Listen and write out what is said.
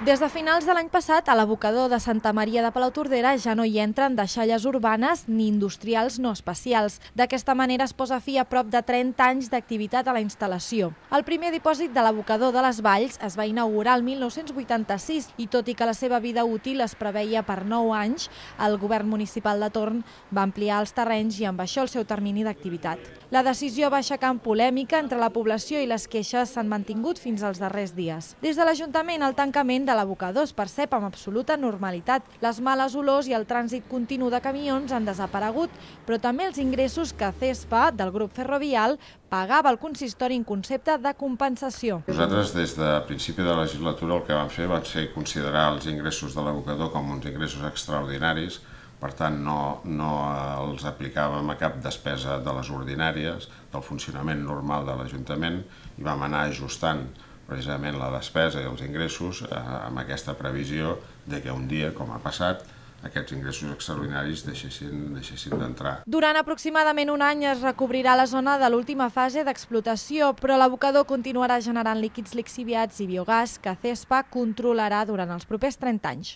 Des de finals de l'any passat, a l'abocador de Santa Maria de Palautordera ja no hi entren deixalles urbanes ni industrials no especials. D'aquesta manera es posa fi a prop de 30 anys d'activitat a la instal·lació. El primer dipòsit de l'abocador de les Valls es va inaugurar el 1986 i tot i que la seva vida útil es preveia per 9 anys, el govern municipal de torn va ampliar els terrenys i amb això el seu termini d'activitat. La decisió va aixecar polèmica entre la població i les queixes s'han mantingut fins als darrers dies. Des de l'Ajuntament, el tancament de l'abocador es percep amb absoluta normalitat. Les males olors i el trànsit continu de camions han desaparegut, però també els ingressos que CESPA, del grup ferrovial, pagava al consistori en concepte de compensació. Nosaltres, des de principi de la legislatura, el que vam fer va ser considerar els ingressos de l'abocador com uns ingressos extraordinaris. Per tant, no els aplicàvem a cap despesa de les ordinàries, del funcionament normal de l'Ajuntament, i vam anar ajustant precisament la despesa i els ingressos amb aquesta previsió de que un dia, com ha passat, aquests ingressos extraordinaris deixessin d'entrar. Durant aproximadament un any es recobrirà la zona de l'última fase d'explotació, però l'abocador continuarà generant líquids lixiviats i biogàs que CESPA controlarà durant els propers 30 anys.